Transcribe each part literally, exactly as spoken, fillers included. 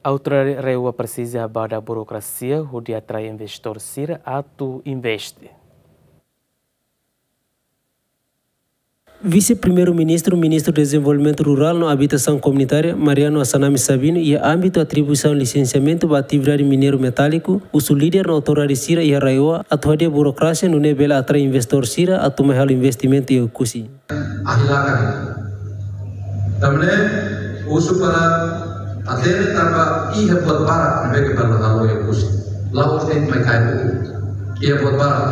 Autoridade RAEOA presiza badak burokrasia hodi atrai investidór sira atu investe. Vise-Primeiru-Ministru, Ministru Dezenvolvimentu Rurál no Abitasaun Komunitária, Mariano Assanami Sabino, iha ámbitu atribuisaun lisensiamentu ba atividade mineiru metáliku, husu líder no autoridade sira iha RAEOA atu hadi'a burokrasia nune'e bele atrai investidór sira atu mai halo investimentu iha Oekusi. Ahi lakan. Tanba ne'e husu para hatene tanba iha buat barak ne'ebé ke bele halo iha Oekusi. La'ós de'it mai kaer buku. Iha buat barak.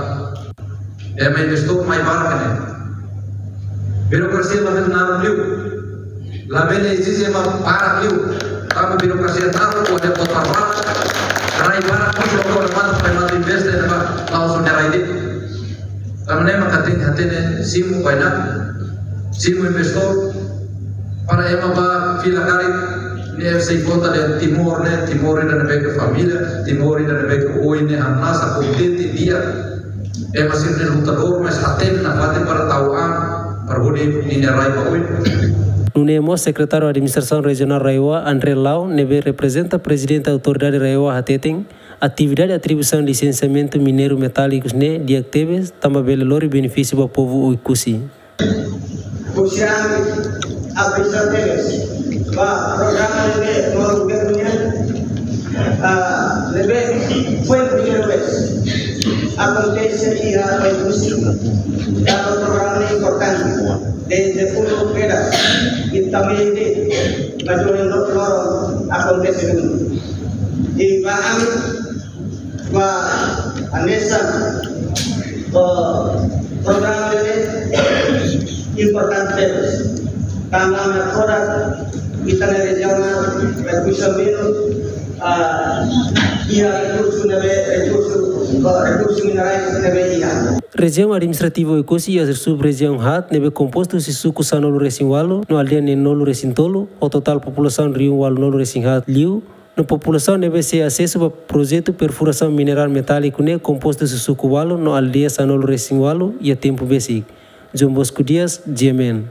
Ema investidór mai barak ne'e. Burokrasia labele naruk liu. Labele ezije ema barak liu. Tanba burokrasia naruk, kuandu buat barak. Rai barak, husu para mata, para mata investe, ema la'ós nia rai de'it. Tanba ne'e mak tenke hatene simu bainhira, simu investidór, para ema bá fila karik, ne'e sei konta dehan Timor ne'e, Timor ida ne'ebé ke família, Timor ida ne'ebé ke oin ne'e hamnasa, kontente, di'ak. Ema sira ne'e lutadór, mas hatene nafatin para tau an, para hodi ninia rai ba oin. Nune'e mós Sekretáriu Administrasaun Rejionál RAEOA, André Lau, ne'ebé reprezenta Prezidente Autoridade RAEOA hateten, atividade atribuisaun lisensiamentu mineiru metálikus ne'e di'ak tebes, tanba bele lori benefísiu ba povu Oekusi. Oekusi abrisaun tebes ba programa ne'ebé mós governu nian, ah, ne'ebé foin primeira vez akontese iha Oekusi. Tanba programa ne'e importante, dezde uluk kedas, i tanba ne'e, mas ohin loron akontese duni. I ba ami, ba hanesan, eh, programa ne'e importante tebes. Tanba agora ita-nia rejiaun, rekursuz umanu, ah, iha rekursu ne'ebé, rekursu, eh, rekursu minerais ne'ebé iha. Rejiaun Administrativu Oekusi iha sub-rejiaun haat ne'ebé kompostu husi suku sanulu-resin-ualu no aldeia neenulu-resin-tolu, ho totál populasaun rihun ualunulu-resin-haat liu, no populasaun ne'ebé sei asesu ba projetu perfurasaun minerál metáliku ne'e kompostu husi suku ualu no aldeia sanulu-resin-ualu iha tempu besik. João Bosco Dias, G M N.